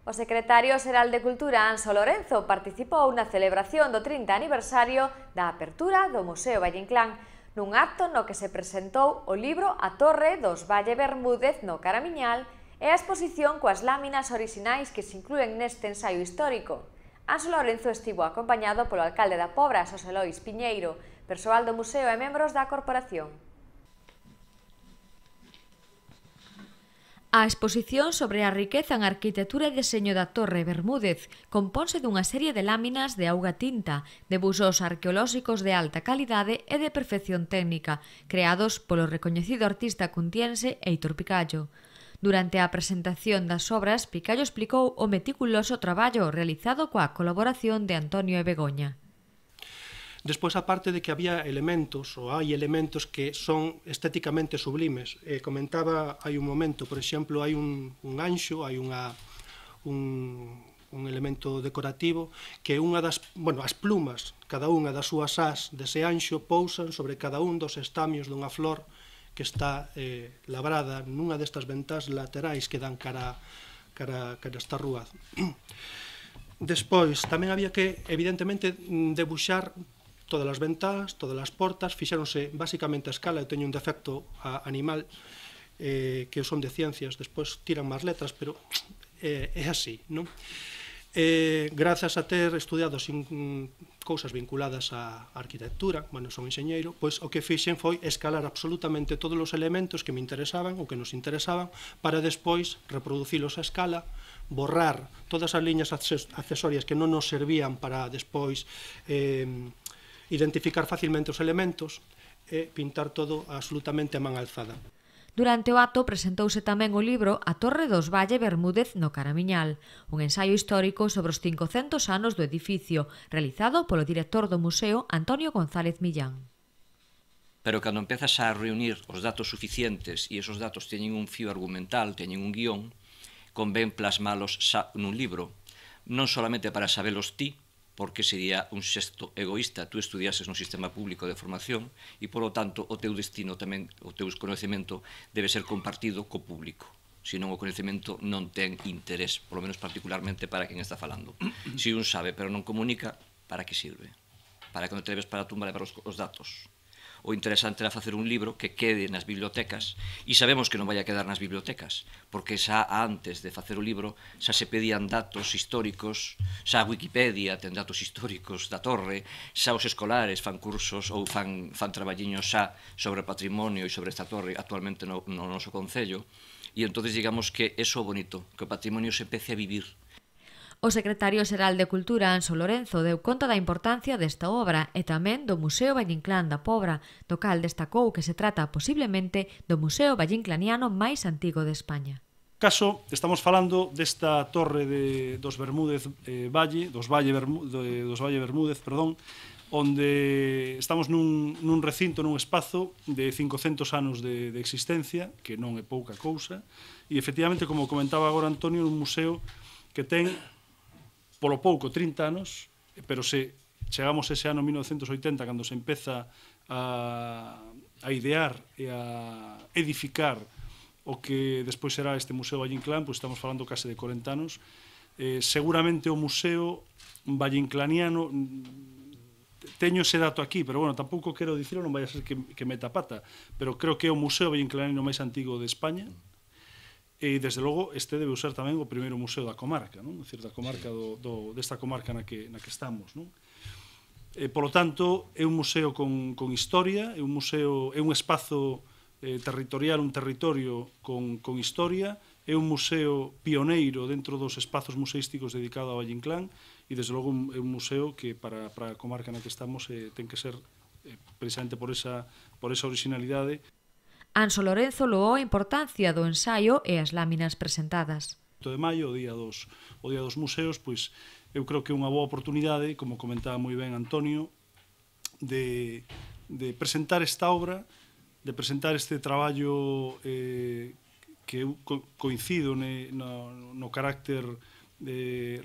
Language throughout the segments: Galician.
O secretario xeral de Cultura, Anxo Lorenzo, participou na celebración do 30 aniversario da apertura do Museo Valle Inclán, nun acto no que se presentou o libro A Torre dos Valle Bermúdez no Caramiñal e a exposición coas láminas orixinais que se inclúen neste ensaio histórico. Anxo Lorenzo estivo acompañado polo alcalde da Pobra, Xosé Lois Piñeiro, persoal do museo e membros da corporación. A exposición sobre a riqueza en arquitectura e deseño da Torre Bermúdez componse dunha serie de láminas de auga tinta, de busos arqueolóxicos de alta calidade e de perfección técnica, creados polo recoñecido artista cuntiense Heitor Picallo. Durante a presentación das obras, Picallo explicou o meticuloso traballo realizado coa colaboración de Antonio e Begoña. Despois, aparte de que había elementos, ou hai elementos que son estéticamente sublimes, comentaba hai un momento, por exemplo, hai un anxo, hai un elemento decorativo que unha das, as plumas, cada unha das súas ás dese anxo pousan sobre cada un dos estamios dunha flor que está labrada nunha destas ventás laterais que dan cara esta rúa. Despois, tamén había que, evidentemente, debuxar todas as ventás, todas as portas, fixéronse basicamente a escala. Eu teño un defecto animal que son de ciencias, despois tiran máis letras, pero é así, non? Grazas a ter estudiado cousas vinculadas á arquitectura, son enxeñeiro, pois o que fixen foi escalar absolutamente todos os elementos que me interesaban ou que nos interesaban para despois reproducilos a escala, borrar todas as liñas accesorias que non nos servían para despois identificar facilmente os elementos e pintar todo absolutamente a man alzada. Durante o acto presentouse tamén o libro A Torre dos Valle Bermúdez no Caramiñal, un ensaio histórico sobre os 500 anos do edificio, realizado polo director do museo Antonio González Millán. Pero cando empezas a reunir os datos suficientes e esos datos teñen un fío argumental, teñen un guión, convén plasmalos nun libro, non solamente para sabelos ti, porque sería un xesto egoísta tú estudiases nun sistema público de formación e, polo tanto, o teu destino tamén, o teu coñecemento debe ser compartido co público. Senón o coñecemento non ten interés, polo menos particularmente para quen está falando. Se un sabe pero non comunica, para que sirve? Para que non te leves para a tumba levar os datos. O interesante era facer un libro que quede nas bibliotecas, e sabemos que non vai a quedar nas bibliotecas, porque xa antes de facer o libro xa se pedían datos históricos, xa a Wikipedia ten datos históricos da torre, xa os escolares fan cursos ou fan traballiños xa sobre patrimonio e sobre esta torre actualmente no noso concello, e entonces digamos que é o bonito, que o patrimonio se empece a vivir. O secretario xeral de Cultura, Anxo Lorenzo, deu conta da importancia desta obra e tamén do Museo Valle Inclán da Pobra, do cal destacou que se trata posiblemente do museo valleinclaniano máis antigo de España. Caso, estamos falando desta torre dos Bermúdez Valle, dos Valle Bermúdez, onde estamos nun recinto, nun espazo de 500 anos de existencia, que non é pouca cousa, e efectivamente, como comentaba agora Antonio, un museo que ten polo pouco 30 anos, pero se chegamos ese ano 1980, cando se empeza a idear e a edificar o que despois será este Museo Valle Inclán, pois estamos falando case de 40 anos. Seguramente o Museo Valleinclaniano, teño ese dato aquí, pero bueno, tampouco quero dicirlo, non vai a ser que meta pata, pero creo que é o Museo Valleinclaniano máis antigo de España, e, desde logo, este debe ser tamén o primeiro museo da comarca, non? É dicir, da comarca desta comarca na que estamos, non? Por lo tanto, é un museo con historia, é un espazo territorial, un territorio con historia, é un museo pioneiro dentro dos espazos museísticos dedicado a Valle Inclán e, desde logo, é un museo que para a comarca na que estamos ten que ser precisamente por esa originalidade. Anxo Lorenzo loou a importancia do ensaio e as láminas presentadas. De maio, o día dos museos, pois eu creo que é unha boa oportunidade, como comentaba moi ben Antonio, de presentar esta obra, de presentar este traballo que eu coincido no carácter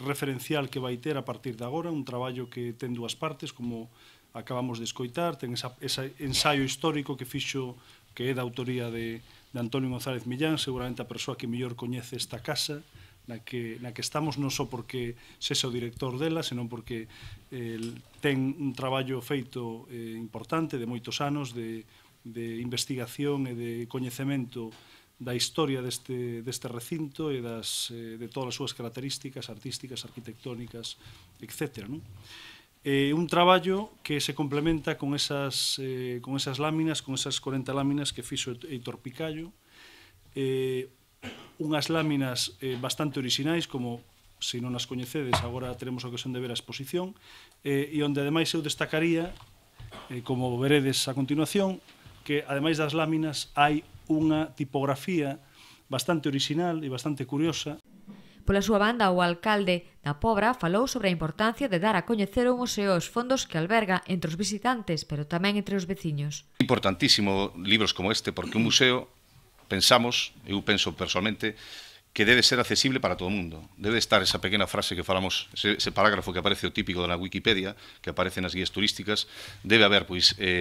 referencial que vai ter a partir de agora, un traballo que ten dúas partes, como acabamos de escoitar, ten ese ensaio histórico que fixo, que é da autoría de Antonio González Millán, seguramente a persoa que mellor coñece esta casa na que estamos non só porque sexa o director dela, senón porque ten un traballo feito importante de moitos anos de investigación e de coñecemento da historia deste recinto e de todas as súas características artísticas, arquitectónicas, etc. Un traballo que se complementa con esas láminas, con esas 40 láminas que fixo Heitor Picallo, unhas láminas bastante orixinais, como, se non as coñecedes, agora teremos a ocasión de ver a exposición, e onde ademais eu destacaría, como veredes a continuación, que ademais das láminas hai unha tipografía bastante orixinal e bastante curiosa. Pola súa banda, o alcalde da Pobra falou sobre a importancia de dar a coñecer o museo os fondos que alberga entre os visitantes, pero tamén entre os veciños. Importantísimo libros como este, porque un museo, eu penso personalmente, que debe ser accesible para todo o mundo. Debe estar esa pequena frase que falamos, ese parágrafo que aparece o típico na Wikipedia, que aparece nas guías turísticas. Debe haber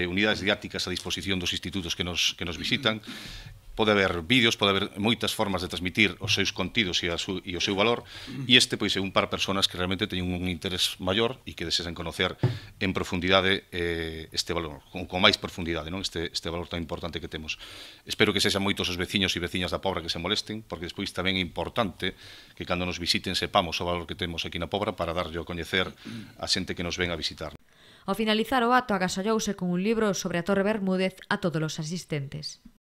unidades didácticas a disposición dos institutos que nos visitan. Pode haber vídeos, pode haber moitas formas de transmitir os seus contidos e o seu valor, e este é un par de persoas que realmente teñen un interés maior e que desexan conocer en profundidade este valor, con máis profundidade, este valor tan importante que temos. Espero que sexan moitos os veciños e veciñas da Pobra que se molesten, porque despois tamén é importante que cando nos visiten sepamos o valor que temos aquí na Pobra para darlle a coñecer a xente que nos ven a visitar. Ao finalizar o acto agasallouse con un libro sobre a Torre Bermúdez a todos os asistentes.